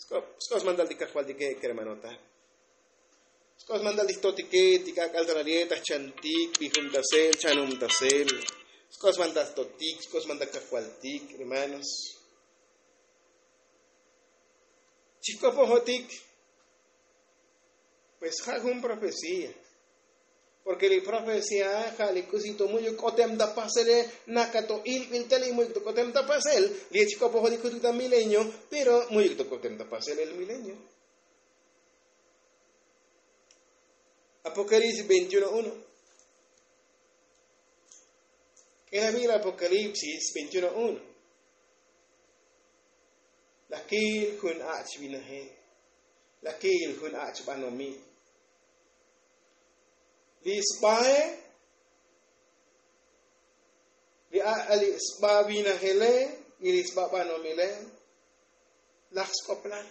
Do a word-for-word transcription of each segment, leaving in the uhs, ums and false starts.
Sk'os mantal ti kajvaltike kermanota. Sk'os mantal ti jtotike ti k'ak'al ta nali'e ta jchantik bijumtasel chanumtasel. Sk'os mantal jtotik sk'os mantal kajvaltik hermanos. Chijk'opojotik. Pues ja' jun profecía. Porke li profecía ja' li k'usi to mu'yuk k'otem ta pasele. Naka to ilbil tele mu'yuk to k'otem ta pasel. Li chijk'opojotik jutuk ta milenio. Pero mu'yuk to k'otem ta pasele li milenio. Apocalipsis veintiuno uno. K'elabil apocalipsis veintiuno uno. Lakil jun ach' vinajel. Lakil jun ach' banomil. Li sbae li a' li sba vinajele y li sba banomile. Laj sk'oplal.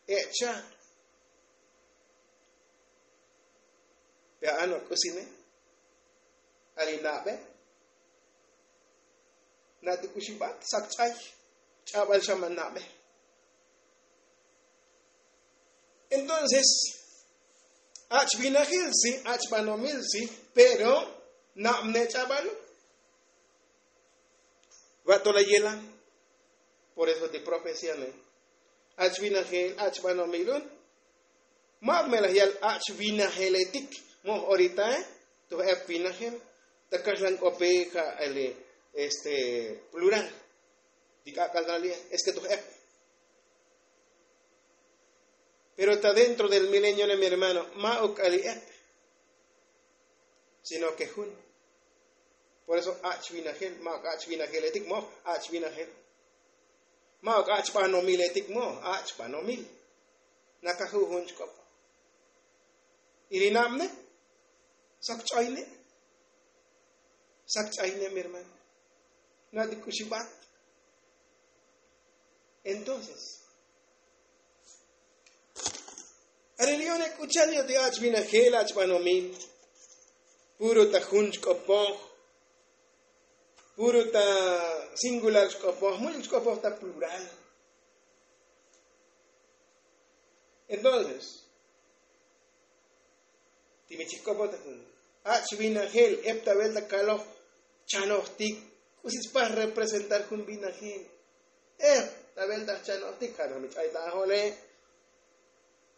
E'cha'. Pe a'ano' k'usine. Ali nabe. Nati' k'uxibat sak ch'ay. Ch'abal xa man nabe. Entonces ach' vinajil si ach' banomil si. Pero nabne ch'abalo. Va' to la yelan. Por eso ti profecía ne. Ach' vinajel ach' banomil un. Ma' me laj yal ach' vinajeletik. Moj oritae. Toj ep vinajel. Ta kaxlan k'ope ja' eli este plural. Ti k'ak'al ta nali'e es ke toj ep. Pero ta dentro del milenio ne mi hermano ma' ok k'ali ep. Sino ke jun. Por eso ach' vinajel ma' ok ach' vinajeletik moj ach' vinajel. Ma' ok ach' banomiletik moj ach' banomil. Nakaju' jun chk'op. Y li nabne sak ch'oyne. Sak ch'oyne mi hermano. Nati' k'uxibat. Entonces are li' one k'u cha'al yo' ti ach' vinajel ach' banomil. Puro ta jun chk'opoj. Puro ta singular chk'opoj mu'yuk chk'opoj ta plural. Entonces ti mi chijk'opoj ta jun ach' vinajel ep ta velta kaloj chanojtik. K'usi spaj representar jun vinajel ep ta velta chanojtik ja' noj mi ch'ay ta ajole.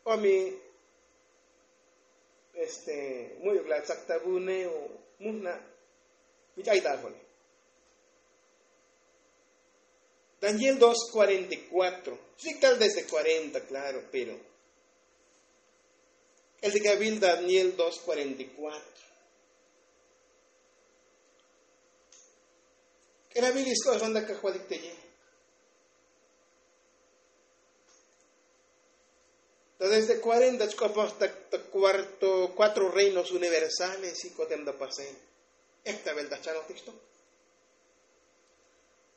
O mi este mu'yuk la tzak ta vune o mujna' mi ch'ay ta ajole. Daniel dos cuarenta y cuatro. Sik tal desde cuarenta klaro pero el ti k'abil daniel dos cuarenta y cuatro. K'elabil isk'oxon ta kajvalik teye. Ta desde cuarenta chk'opoj ta cuarto reinos universales y k'otem ta pasel. Ep ta velta chanojtik xto.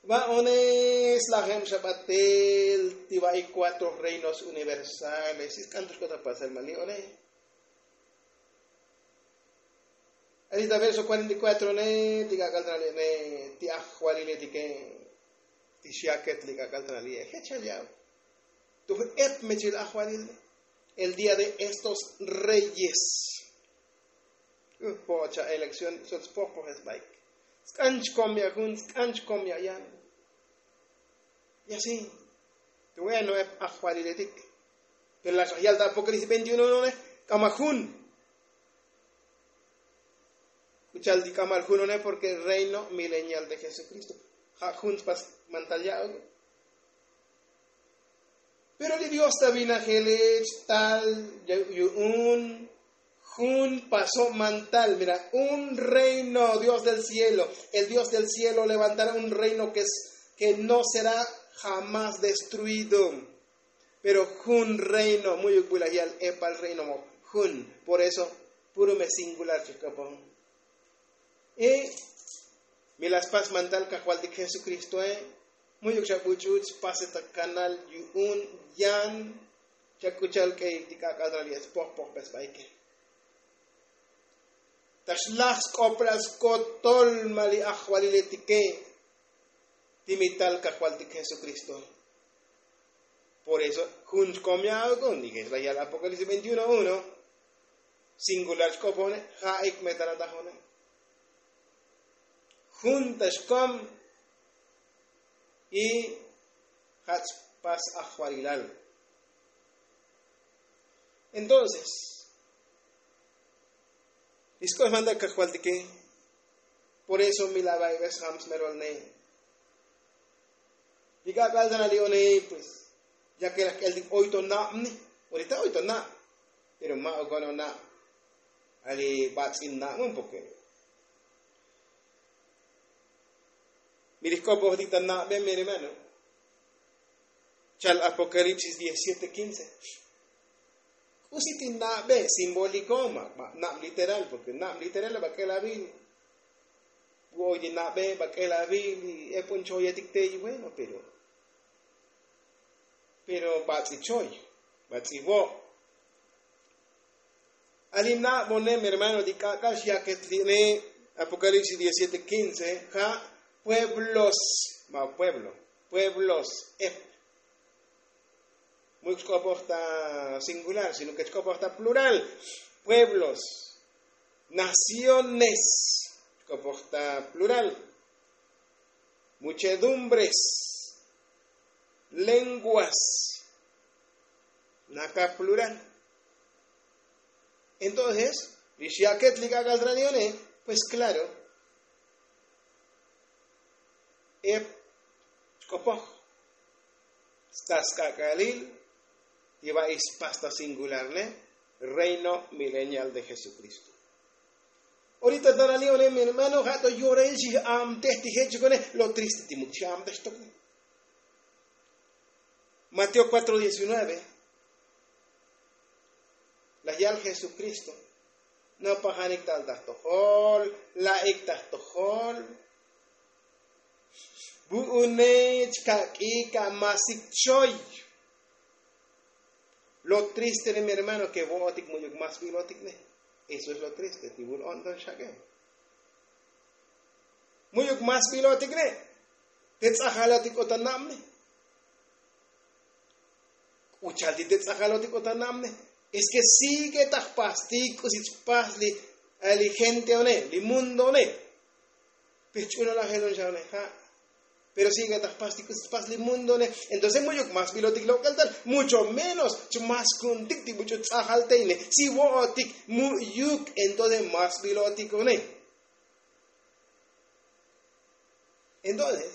Va'ones lajem xa batel ti va'ik cuatro reinos universales y sk'an to xk'ot ta pasel ma' li' one. Ari ta verso cuarenta y cuatro ne ti k'ak'al ta nali'e ne ti ajvaliletike. Ti xyaket li k'ak'al ta nali'e jechal ya'o. Toj ep mechil ajvalil ne. El día de estos reyes. Po'ocha elekción sot spojpojes baik. Sk'an chkom ya' jun sk'an chkom ya' yan. Y asi. Bueno ep ajvaliletik. Pero la xa yal ta apocalipsis veintiuno ne k'ama jun. K'u cha'al ti k'amal jun one porke reino milenial de jesukristo. Ja' jun spas mantal ya'o. Pero li dios ta vinajele chtal yu'un jun paso' mantal mira un reino dios del cielo. El dios del cielo levantará un reino ke no será jamás destruido. Pero jun reino mu'yuk bu laj yal epal reino moj jun. Por eso puro me singular chijk'opon. Y mi la spas mantal kajvaltik jesukristoe. Mu'yuk xa buch'uch spase ta kanal yu'un yan. Xa k'u cha'al k'eyik ti k'ak'al ta nali'e spojpojbe sbaike. Ta xlaj sk'oplal skotol ma' li ajvaliletike. Ti mi tal kajvaltik jesukristoe. Por eso jun chkom ya'uk un y jesla yal apokalipsis veintiuno uno. Singular chkopojne ja'ik me ta natajone. Jun ta xkom y ja' chpas ajvalilal. Entonces li sk'oxmanda kajvaltike. Por eso mi la baybes jam smerolne. Li k'ak'al ta nali' one pues ya ke laj k'eltik oy to nabne. Orita oy to nab. Pero ma' okono nab. Ali bats'in nabun porque mi li jk'opojtik ta nabe mi hermano. Chal apokalipsis diecisiete quince. K'usi ti nabe simboliko ma' nab literal porque nab literal ba k'el abil. Gu' oy ti nabe ba k'el abil y epon choyetik te y bueno pero pero bats'i choy bats'i vo'. Ali nabone mi hermano ti k'ak'al xyaket li'ne. Apokalipsis diecisiete quince ja' pueblos ma' pueblo pueblos ep. Mu'yuk chk'opoj ta singular sino ke chk'opoj ta plural. Pueblos, naciones, chk'opoj ta plural. Muchedumbres, lenguas, naka plural. Entonces li xyaket li k'ak'al ta nali' one pues klaro. Ep chk'opoj sta sk'ak'alil ti ba'i spas ta singularne reino milenial de jesukristo. Orita ta nali' one mi hermano ja' to yorail xij'amtej ti jechikone. Lo triste ti muk' xij'amtej xtokne. Mateo cuatro diecinueve. Laj yal jesukristo. Nopajanik tal ta jtojol. La'ik ta jtojol. Vu'une chkak'ik amasik choy. Lo triste ne mi hermano ke vo'otik mu'yuk mas bilotik ne. Eso es lo triste ti vul o'nton xak'e. Mu'yuk mas bilotik ne. Te tz'ajalotik o ta nabne. K'u cha'al ti te tz'ajalotik o ta nabne. Es ke sigue ta jpastik k'usi chpas li gente one li mundo one. Pe ch'unolajel un xa one ja'. Pero sigue ta jpastik k'usi chpas li mundo one. Entonces mu'yuk mas bilotik lok'el tal mucho menos chmas ku'untik ti buch'u tz'ajal tey ne si vo'otik mu'yuk entonces mas bilotik one. Entonces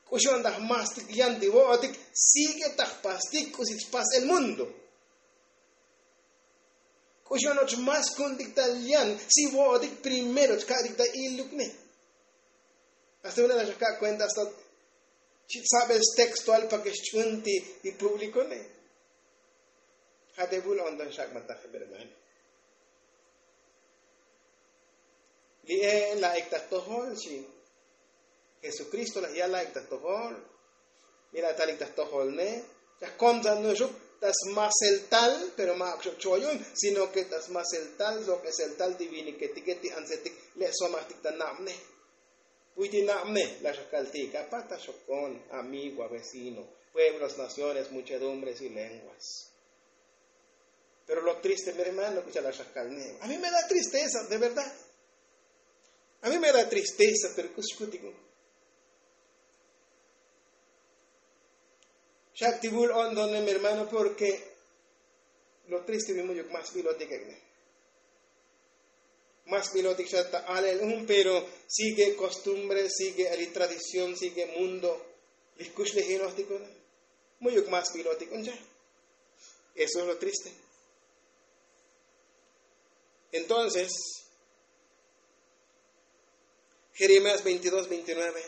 k'uxi on ta jmastik yan ti vo'otik sigue ta jpastik k'usi chpas el mundo. K'uxi on och mas ku'untik tal yan si vo'otik primero chka'tik ta ilukne. Asta vune la xaka' kuenta asta chi' tsabel stextual pa ke xch'un ti publikone. Ja' te vul onton xak' mataj hermano. Li'e la'ik ta jtojol xi. Jesukristo laj yal la'ik ta jtojol. Mi la talik ta jtojolne. Chaj kontzan nuxuk ta smasel tal pero ma' ak xo' choyun sino ke ta smasel tal lok'esel tal ti viniketike ti antsetik le' somajtik ta nabne. Puy ti nabne laj xaj kaltik apa ta xokon amigo avecino, pueblos, naciones, muchedumbres y lenguas. Pero lo triste mi hermano k'u cha'al laj xaj kalne a mi me da tristeza de verdad. A mi me da tristeza pero k'u xkutik un. Xak' ti vul o'nton ne mi hermano porke lo triste mi mu'yuk mas bilotik ek'ne. Mas bilotik xa ta alel un pero sigue kostumbre sigue ali tradición sigue mundo. Li kuxlejinojtik un mu'yuk mas bilotik un cha. Eso es lo triste. Entonces jeremías veintidós veintinueve.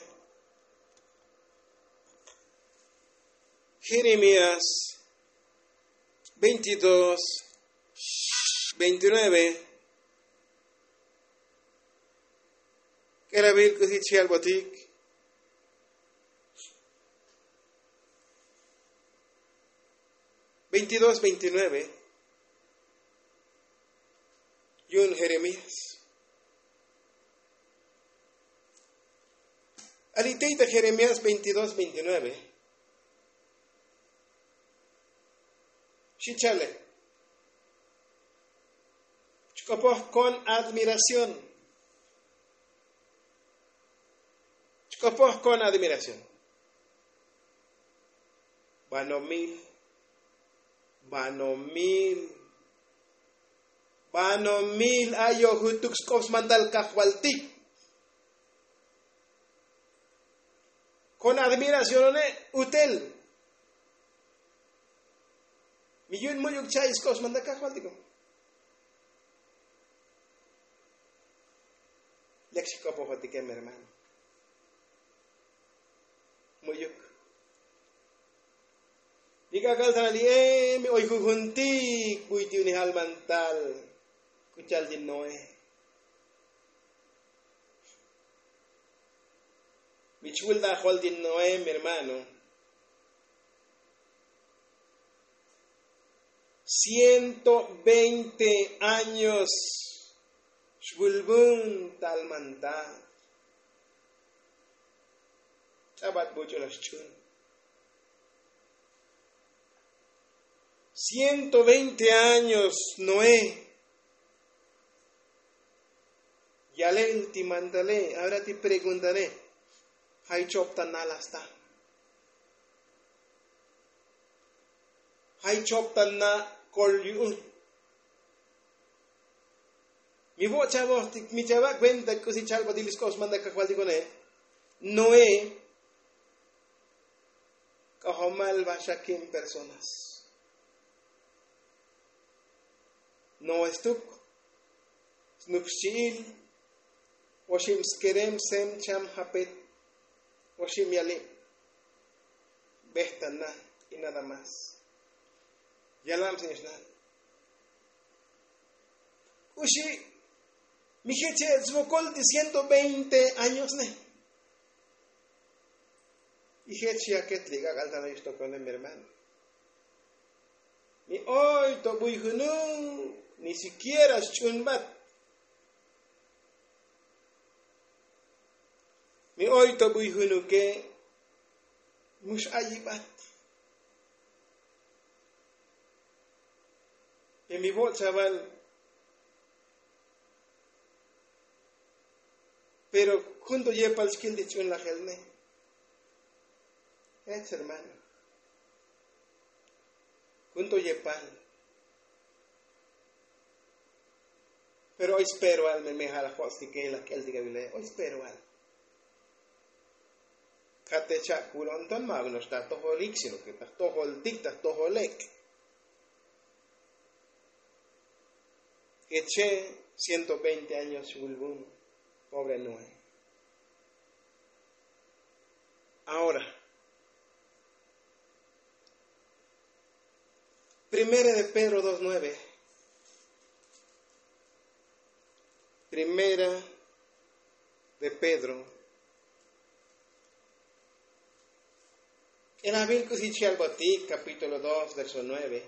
Jeremías veintidós veintinueve. K'elavil k'usi chi' albotik. Veintidós veintinueve. Yu'un jeremías. Alitey ta jeremías veintidós veintinueve. Chichale. Chk'opoj kon admiración. Chk'opoj kon admiración. Banomil, banomil, banomil ayo jutuk sk'op smantal kajvaltik. Kon admiración one utel. Mi yun mu'yuk cha'i sk'op smantal kajvaltiko. Lek xik'opojotike mi hermano. Mu'yuk. Li k'ak'al ta li e mi oy jujuntik buy ti unijal mantal. K'u chal ti noé. Mi chvul ta jol ti noé mi hermano. Ciento veinte años xvulvun tal mantal. Ch'abat buch'u la xch'un. Ciento veinte años noé. Yalel ti mantale. Ahora ti preguntale. Jay chop ta nalasta? Jay chop ta na kol yu'un? Mi vo' chavojtik mi chava' kuenta k'usi chalbatil sk'op smantal kajvaltik one. Noé. K'ajomal vaxakin personas. Noé stuk. Snuk xchi'il. Oxib skerem sem cham japet. Oxib yalib. Bejtana. Y nada más. Yalab señor xna'. K'uxi' mi jech che' svokol ti ciento veinte años ne. Y jech yaket li k'ak'al ta no'ix tokone mi hermano. Mi oy to buy junuk ni sikiera xch'unbat. Mi oy to buy junuke. Mux ayibat. Y mi vo' chaval. Pero jun to yepal xkil ti ch'un lajel ne. Ech hermano. Jun to yepal. Pero oy speroal me mejal ajo'stik ke laj k'eltik avile oy speroal. Kate cha'kul onton ma avino'ox ta jtojolik sino ke ta jtojoltik ta jtojolek. Keche ciento veinte años xvulvun. Pobre noé. Ahora primera de pedro dos nueve. Primera de pedro. K'elavil k'usi chi albotik kapítulo dos verso nueve.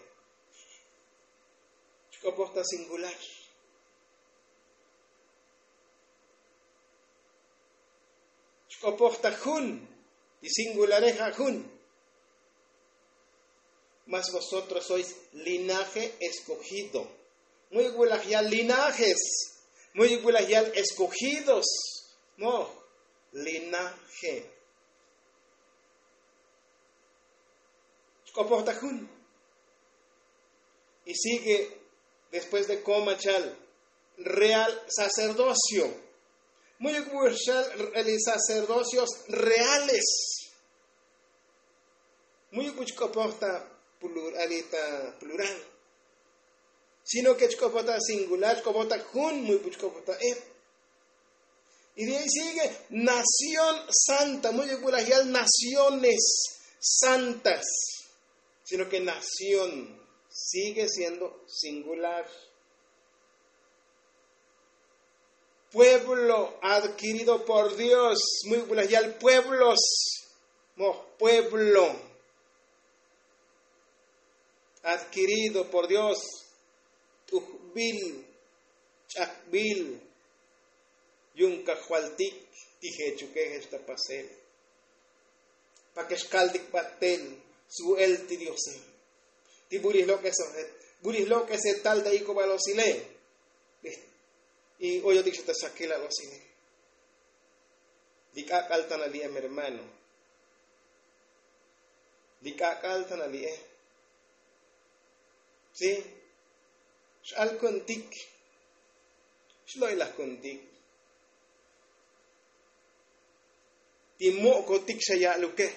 Chk'opoj ta singular. Chk'opoj ta jun. Ti singulareja jun. Mas vosotros sois linaje eskogido. Mu'yuk bulaj yal linajes. Mu'yuk bulaj yal eskogidos. Moj linaje. Chk'opoj ta jun. Y sigue después de koma chal real sacerdocio. Mu'yuk bulaj chal sacerdocios reales. Mu'yuk buch k'opoj ta plural. Sino ke chk'opoj ta singular chk'opoj ta jun mu'yuk buch k'opoj ta eb. Y de ahí sigue nación santa mu'yuk bulaj yal naciones santas. Sino ke nación sigue siendo singular. Pueblo adkirido por dios. Mu'yuk bulaj yal pueblos. Moj pueblo adkirido por dios. T'ujbil ch'akbil yu'un kajvaltik ti jechuke jech ta pasel. Pake xkaltik batel svu'el ti diose. Ti burij lok'es ojet burij lok'es etal ta ik'ubal osile. Y oyotik xa ta sakilal osile. Li k'ak'al tan ali'e mi hermano. Li k'ak'al tan ali'e. Si. X'al kuntik. Xlo'ilaj kuntik. Ti mo'kotik xa ya'luke.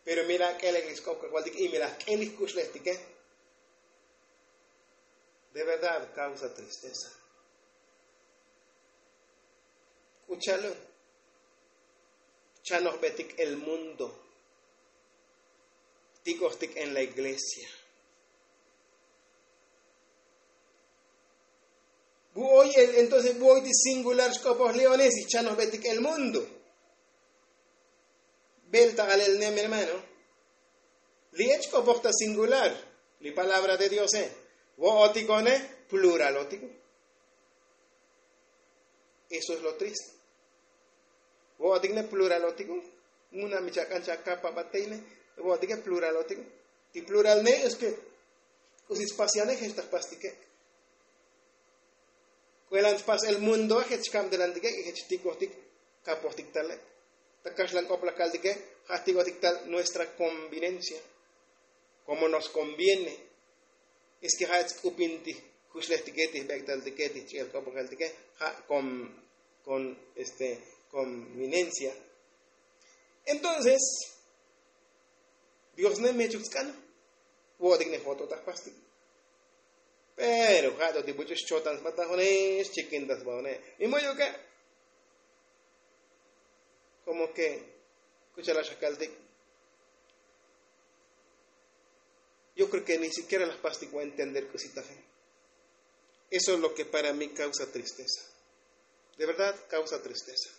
Pero mi la k'elek li sk'op kajvaltik y mi la k'el li jkuxlejtike. De verdad kausa tristeza. K'ucha'lun. Chanojbetik el mundo. Tik'ojtik en la iglesia. Bu oy entonces bu oy ti singular xk'opoj leones y chanojbetik el mundo. Bel ta alel ne mi hermano. Li ech k'opoj ta singular. Li palabra de diose. Vo'otikone pluralotiko. Eso es lo triste. Vo'otik ne pluralotiko. Muna mi chak'an chakapa bateine. Vo'otike pluralotiko. Ti plural ne es ke k'usi spasiane jech ta jpastike. K'uelan tpas el mundo jech kabdelantike y jech tik'ojtik. Kapojtik tale. Ta kaxlan k'oplaj kaltike. Ja' tik'ojtik tal nuestra convivencia. Como nos conviene. Es ke ja' ech sk'upin ti jkuxlejtike ti jbek'taltike ti jch'i'el k'opojeltike. Ja' con con este convivencia. Entonces dios ne mechuk tsk'an. Vo'otik ne joto ta jpastik. Pero ja' to ti buch'u xchotan sba ta jone xchikin ta sba jone. Mi mu'yuke. Komo ke k'ucha'al xa kaltik. Yo kreo ke ni sikiera la jpastik vo entender k'usi taje. Eso es lo ke para mi kausa tristeza. De verdad kausa tristeza.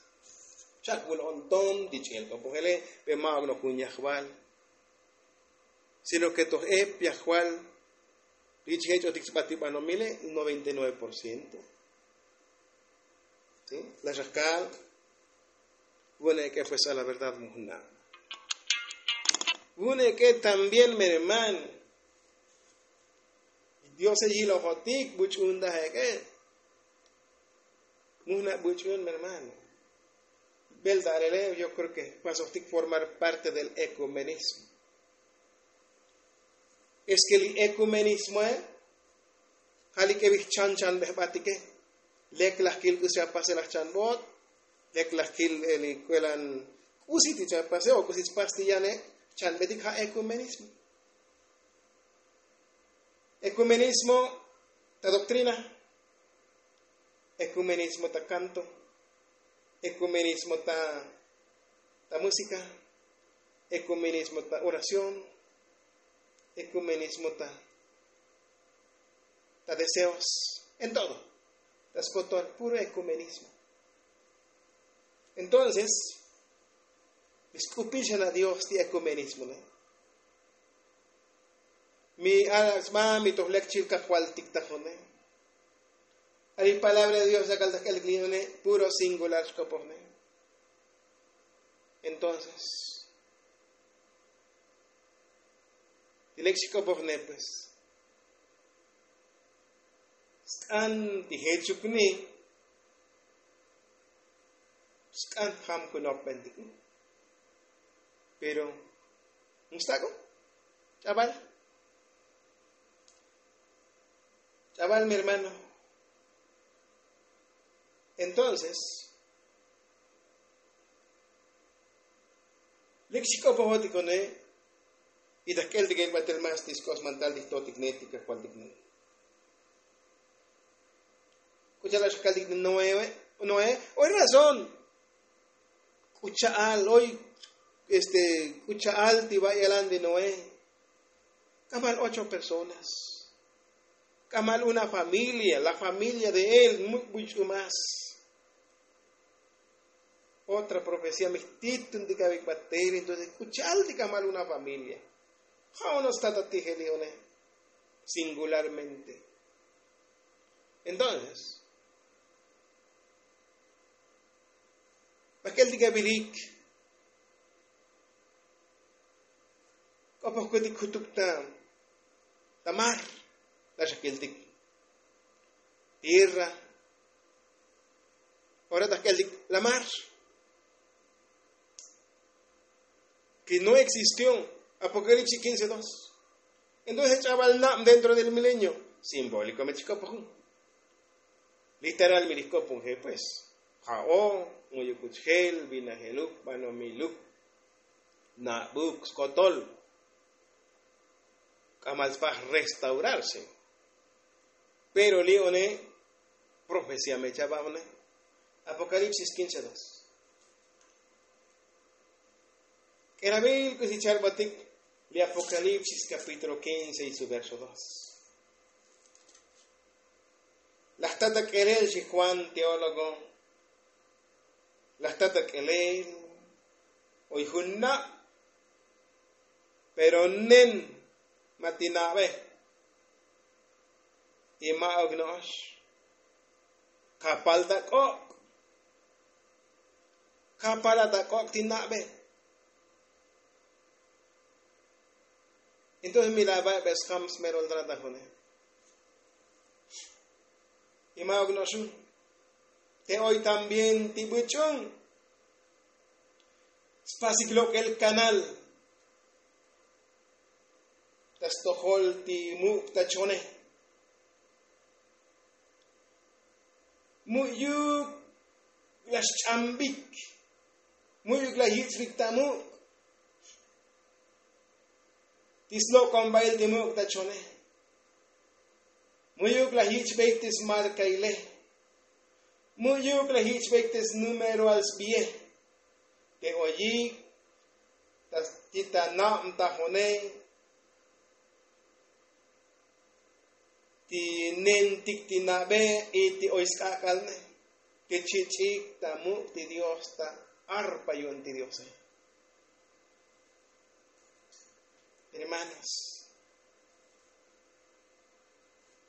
Chak vul onton ti ch'el k'opojele. Pe ma'ok noj jun yajval. Sino ke toj ep yajval. Ri chijech'otik sba ti banomile noventa y nueve por ciento. Laxaj kal. Vune' ke fuerza la verdad mujna'. Vune' ke también mi hermano. Diose yilojotik buch'un daje ke. Mujna' buch'un mi hermano. Belta alele yo kreo ke pasojtik formar parte del ekumenismo. Es ke li ekumenismoe ja' li k'evij chan chan bejbatike. Lek laj kil k'usi apase laj chan bot. Lek laj kil li k'uelan k'usi ti chapase o k'usi tspastiyane. Chan betik ja' ekumenismo. Ekumenismo ta doktrina. Ekumenismo ta kanto. Ekumenismo ta ta musika. Ekumenismo ta orasion. Ekumenismo ta ta deseos. En todo ta skotol puro ekumenismo. Entonces mi sk'upixan a dios ti ekumenismo ne. Mi alak sba mi toj lek chil kajvaltik ta jone. A li palabra de dios yakal ta k'elik li jone. Puro singular xk'opoj ne. Entonces ti lek xk'opoj ne pues. Sk'an ti jechuk ni. Sk'an jam kunopbentik ni. Pero mustak'o ch'abal. Ch'abal mi hermano. Entonces lik xik'opojotik one. Y ta jk'eltik ek' batel mas ti sk'os mantal ti jtotik ne ti kajvaltik ne. K'u cha'al xa kaltik noe. Noe oy razón. K'u cha'al oy este k'u cha'al ti va' yalan de noe. K'amal ocho personas. K'amal una familia la familia de él muk' buch'u mas. Otra profesia mi jtituntik avik batel entonces k'u cha'al ti k'amal una familia. Ja' ono stata tijeli one singularmente. Entonces bak'el ti kavilik k'opoj kuetik jutuk ta ta mar. La xa kiltik tierra. Ora ta keltik la mar. Ki no existió. Apokalipsis kince dos. Entonces ch'abal nab dentro del milenio simbóliko me chikopojun. Literal mi likopon je pues. Ja'o, muyukuchjel vinajeluk banomiluk, nabuk skotol. K'amal spaj restaurarse. Pero li' one profecía me chaba'one. Apokalipsis kince dos. K'elabil k'usi chalbatik li apokalipsis kapítulo kince y su verso dos. Laj tata k'elel xi juan teólogo. Laj tata k'elel oy jun nab. Pero nen ma ti nabe. Y ma ok no'ox. Kapal ta k'ok'. Kapal ta k'ok' ti nabe. Entonces mi la babe skam smerol trata june. Y ma ok no'oxun. Te oy también ti buch'un. Spasik lok'el kanal. Ta stojol ti muk' ta chone. Mu'yuk la xch'ambik. Mu'yuk la yich'bik ta muk'. Ti slok'onbail ti muk' ta chone. Mu'yuk la yich'bik ti smarkaile. Mu'yuk la yich'bik ti snumeroal sbie. Te oyik ti ta nab ta jone. Ti nentik ti nabe y ti oy sk'ak'alne. Ti chich'ik ta muk' ti dios ta arpa yu'un ti diose. Hermanos,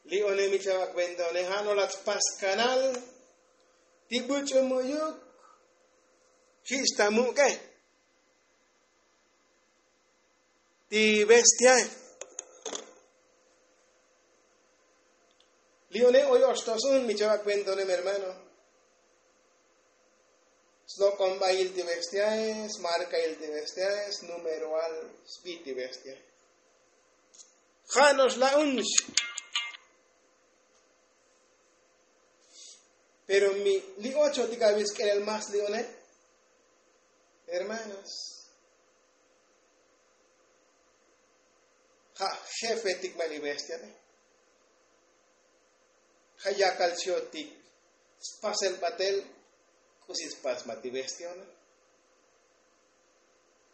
li' one mi chava' cuenta one ja' no laj tpas kanal. Ti buch'u mu'yuk jich ta muk'e ti bestiae. Li' one oy oxtosun mi chava' cuenta one mi hermano. Slok'onbail ti bestiae, smarkail ti bestiae, snumeroal sbi ti bestiae. Ja' no'ox la'unx. Pero mi li' ochotik avis k'elel mas li' one. Hermanos, ja' jefetik ma li bestiae. Ja' yakal chiotik spasel batel. K'usi spas ma ti bestiae.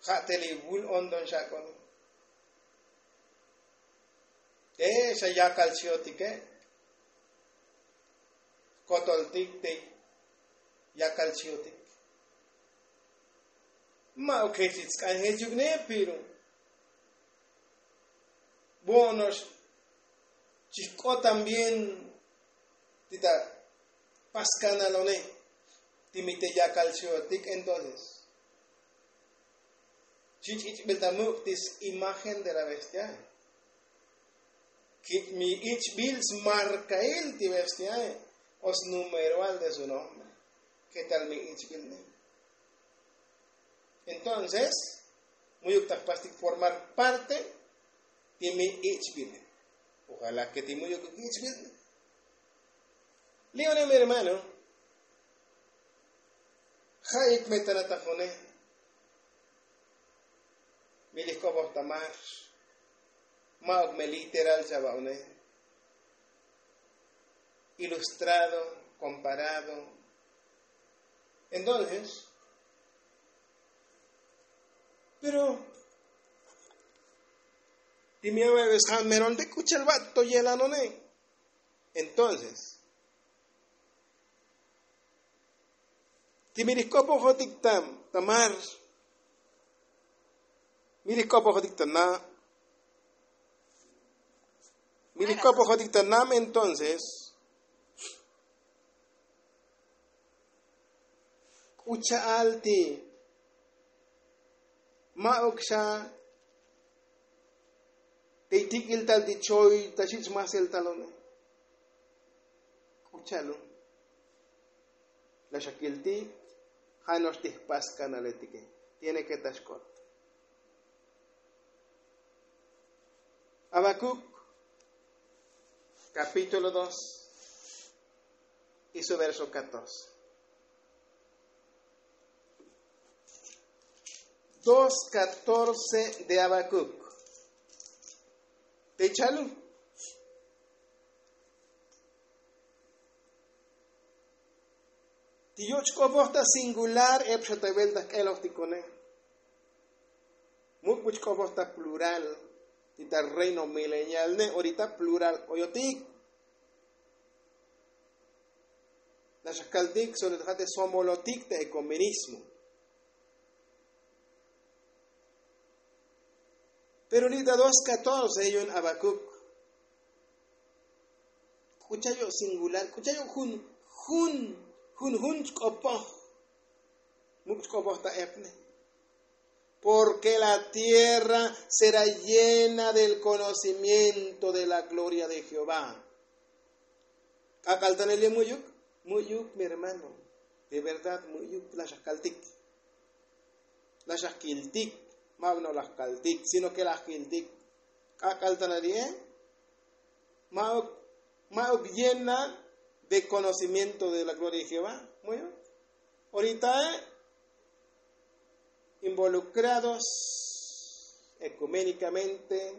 Ja' te li vul ondon xak'on. Te xa yakal chiotike. Kotoltik te yakal chiotik. Ma' ok jech itsk'an jechuk ne pero bo'ono'ox chijk'ot también ti ta paskanalone. Ti mi te yakal chiotik entonces chi ch'ich'bil ta muk' ti s'imagen de la bestiae. Ki' mi ich'bil smarkail ti bestiae o snumeroal de su nombre. Ketal mi ich'bil ne? Entonces mu'yuk ta jpastik formar parte ti mi ich'bil ne. Ojala ke ti mu'yuk ich'bil ne. Li' one mi hermano, ja'ik me tana ta june. Mi li jk'opoj ta mar. Ma'uk me literal chava' une. Ilustrado, komparado. Entonces pero ti mi ave ves jan meron te k'uchel va' to yelanone. Entonces ti mi ri jk'opojotik ta mar. Mi ri jk'opojotik ta na'. Mi ri jk'opojotik ta na' entonces k'u cha'al ti ma'uk xa Te itik'il tal ti choy ta xich' masel talone. K'u cha'lu. La xakiltik. Ja' no'ox ti jpas kanaletike. Tiene ke ta xk'ot. Habacuc, capítulo dos y su verso catorce. Dos catorce de Habacuc. Te chalu. Ti yoch' k'opoj ta singular ep xa ta vuelta jk'elojtikone. Muk' buch' k'opoj ta plural. Ti ta reino milenial ne orita plural oyotik. La xakaltik sobre ta ja' te somolotik ta ekumenismo. Pero li' ta dos catorce yu'un Habacuc. K'u cha' yo' singular k'u cha' yo' jun jun jun jun chk'opoj. Muk' chk'opoj ta epne. Porque la tierra será llena del conocimiento de la gloria de Jehová. K'ak'al tanel ye mu'yuk. Mu'yuk mi hermano. De verdad mu'yuk. La xakaltik. La xakiltik. Ma'uk no la kaltik sino ke la kiltik. K'ak'al tanel ye. Ma'uk ma'uk llena de conocimiento de la gloria de Jehová. Mu'yuk. Orita involucrados ekuménikamente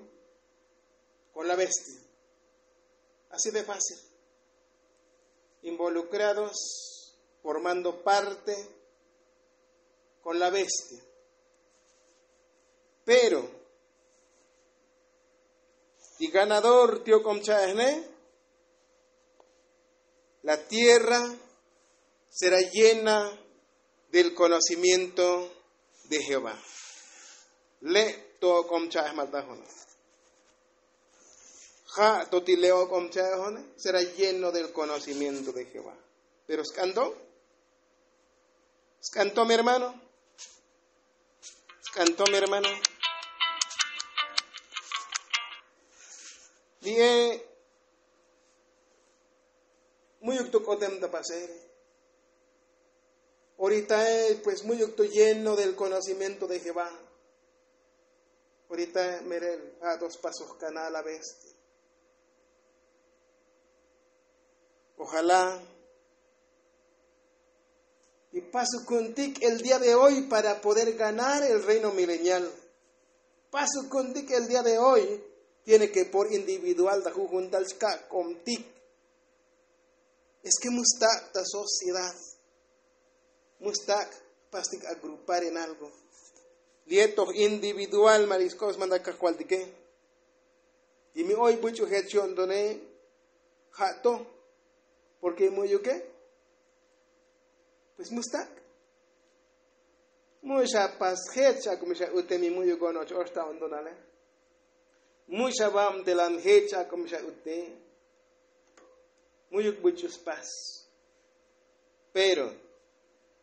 kon la bestia. Así de fácil. Involucrados formando parte kon la bestia. Pero ti ganador ti ok'om cha'ejne. La tierra será llena del conocimiento de Jehová. Le' to ok'om cha'ej malta jona. Ja' to ti le' ok'om cha'ej jona será lleno del conocimiento de Jehová. Pero sk'anto sk'anto mi hermano. Sk'anto mi hermano. Li'e mu'yuk to k'otem ta pasere. Oritae pues mu'yuk to lleno del conocimiento de jehová. Oritae merel ja' to spasoj kanal a bestia. Ojalá y pasukuntik el día de hoy para poder ganar el reino milenial. Pasukuntik el día de hoy tiene ke por individual ta jujun tal chka'k'omtik. Es ke mustak' ta sociedad. Mustak' pastik agrupar en algo. Lietoj individual malisk'ob smantak kajkualtike. Y mi oy buch'u jech yo'ntone ja' to. Porke mu'yuke pues mustak'. Mu'xa pas jech ak'umi xa ute mi mu'yuk onoch oxta ontonale. Mu'xa vabtelan jech ak'umi xa ute. Mu'yuk buch'u spas. Pero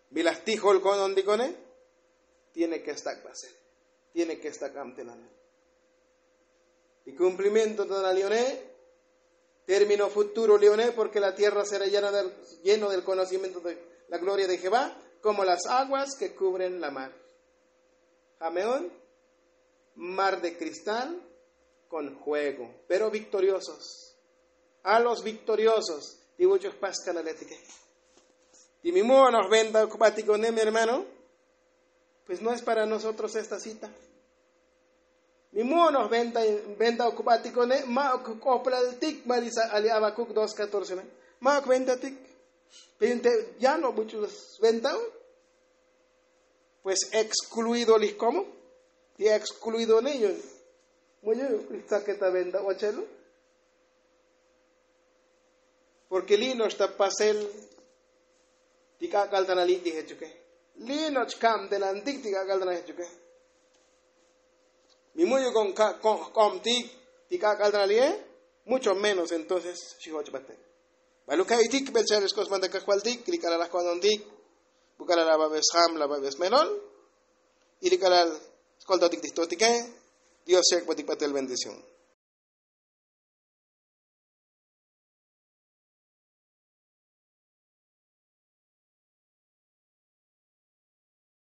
mi laj tijol ko'nontikone tiene ke stak' pasel. Tiene ke stak' abtelanel. Y kumplimiento tonal li'one termino futuro li'one porke la tierra sera lleno del konocimiento de la gloria de jehová, komo las aguas ke kubren la mar. Jameon mar de kristal kon juego. Pero viktoriosos a los viktoriosos. Ti vuch'u jpas kanaletike ti mi mu'onoj venta ukbatikone mi hermano. Pues no es para nosotros esta cita. Mi mu'onoj venta ukbatikone ma'uk k'oplaltik mali abakuk dos katorce ne. Ma'uk ventatik. Pero inte ya no buch'u sventaun. Pues ekskluido lij komo ti ekskluidone yu'un. Mu'yuk ijtzaketa venta ochelu. Porke li' no'ox ta pasel ti k'ak'al ta na li' ti jechuke. Li' no'ox kabtelantik ti k'ak'al ta na jechuke. Mi mu'yuk on ka' ko'njk'obtik ti k'ak'al ta na li'e. Mucho menos entonces xi jochbate. Baluk ka'itik bel cha'el xk'osbanta kajvaltik li' k'alal laj ko'nontik. Bu k'alal la babes jam la babes melol. Y li' k'alal skoltotik ti jtotike. Dios xek'botik batel bendición.